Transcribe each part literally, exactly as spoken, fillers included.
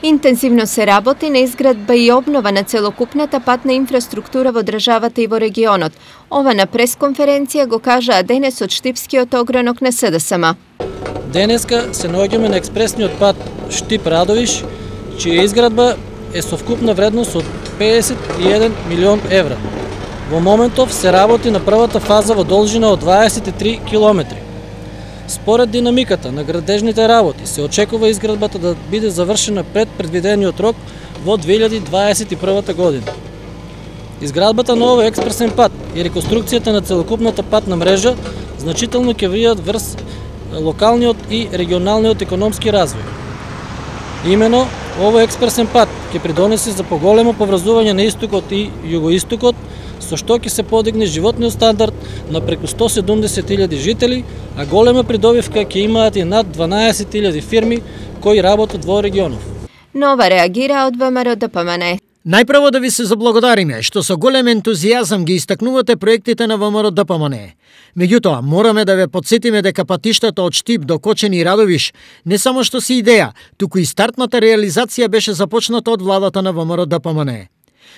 Интензивно се работи на изградба и обнова на целокупната патна инфраструктура во државата и во регионот. Ова на пресконференција го кажаа денес од Штипскиот огранок на С Д С М. Денеска се наоѓаме на експресниот пат Штип-Радовиш, чија изградба е со вкупна вредност од педесет и еден милион евра. Во моментов се работи на првата фаза во должина од дваесет и три километри. Според динамиката на градежните работи се очекува изградбата да биде завршена пред предвидениот рок во две илјади дваесет и прва година. Изградбата на овој експресен пат и реконструкцијата на целокупната патна мрежа значително ќе влијат врз локалниот и регионалниот економски развој. Имено, овој експресен пат ќе придонесе за поголемо поврзување на истокот и југоистокот, со што ќе се подигне животниот стандард на преку сто и седумдесет илјади жители, а голема придобивка ќе имаат и над дванаесет илјади фирми кои работат во регионов. Нова реагира од В М Р Д П М Н. Најпрво да ви се заблагодариме што со голем ентузијазам ги истакнувате проектите на В М Р Д П М Н. Меѓутоа, мораме да ве потсетиме дека патиштата од Штип до Кочени и Радовиш не само што се идеја, туку и стартната реализација беше започната од владата на В М Р Д П М Н.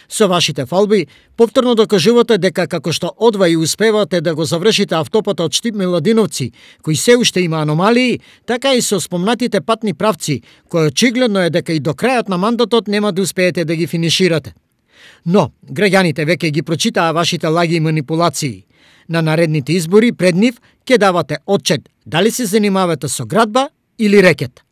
Со вашите фалби, повторно докажувате дека како што одвај успевате да го завршите автопата од Штип Миладиновци, кој се уште има аномалии, така и со спомнатите патни правци, кој очигледно е дека и до крајот на мандатот нема да успеете да ги финиширате. Но, граѓаните веќе ги прочитаа вашите лаги и манипулации. На наредните избори пред нив ќе давате отчет дали се занимавате со градба или рекет.